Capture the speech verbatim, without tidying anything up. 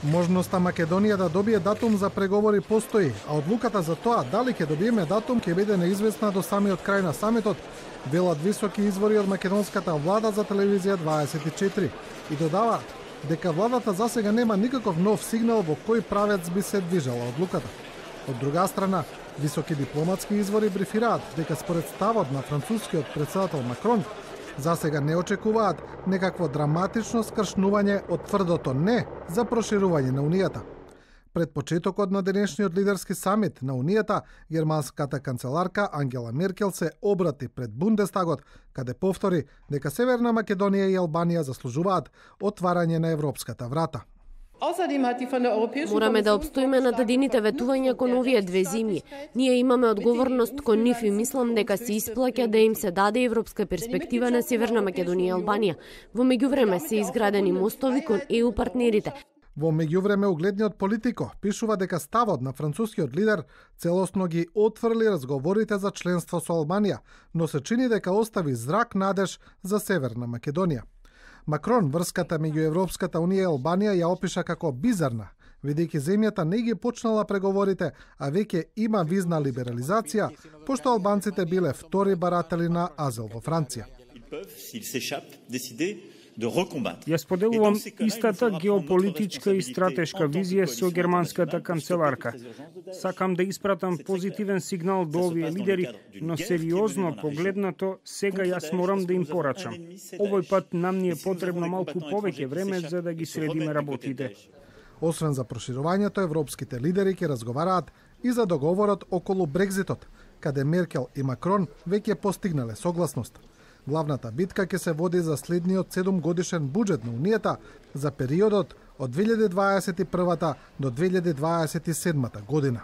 Можноста Македонија да добие датум за преговори постои, а одлуката за тоа дали ќе добиеме датум ќе биде неизвестна до самиот крај на самитот, велат високи извори од македонската влада за телевизија дваесет и четири и додаваат дека владата засега нема никаков нов сигнал во кој правец би се движала одлуката. Од друга страна, високи дипломатски извори брифираат дека според ставот на францускиот претседател Макрон, засега не очекуваат некакво драматично скршнување од тврдото не за проширување на Унијата. Пред почетокот на денешниот лидерски самит на Унијата, германската канцеларка Ангела Меркел се обрати пред Бундестагот, каде повтори дека Северна Македонија и Албанија заслужуваат отварање на европската врата. Мораме да обстоиме над едините ветувања кон овие две земји. Ние имаме одговорност кон нив и мислам дека се исплаќа да им се даде европска перспектива на Северна Македонија и Албанија. Во меѓувреме се изградени мостови кон е у партнерите. Во меѓувреме угледниот Политико пишува дека ставот на францускиот лидер целосно ги отфрли разговорите за членство со Албанија, но се чини дека остави зрак надеж за Северна Македонија. Макрон врската меѓу Европската Унија и Албанија ја опиша како бизарна, бидејќи земјата не ги почнала преговорите, а веќе има визна либерализација, пошто албанците биле втори баратели на азил во Франција. Ја споделувам истата геополитичка и стратешка визија со германската канцеларка. Сакам да испратам позитивен сигнал до овие лидери, но сериозно погледнато сега јас морам да им порачам. Овој пат нам ни е потребно малку повеќе време за да ги средиме работите. Освен за проширувањето, европските лидери ќе разговараат и за договорот околу Брекзитот, каде Меркел и Макрон веќе постигнале согласност. Главната битка ќе се води за следниот седумгодишен буџет на Унијата за периодот од две илјади дваесет и прва до две илјади дваесет и седма година.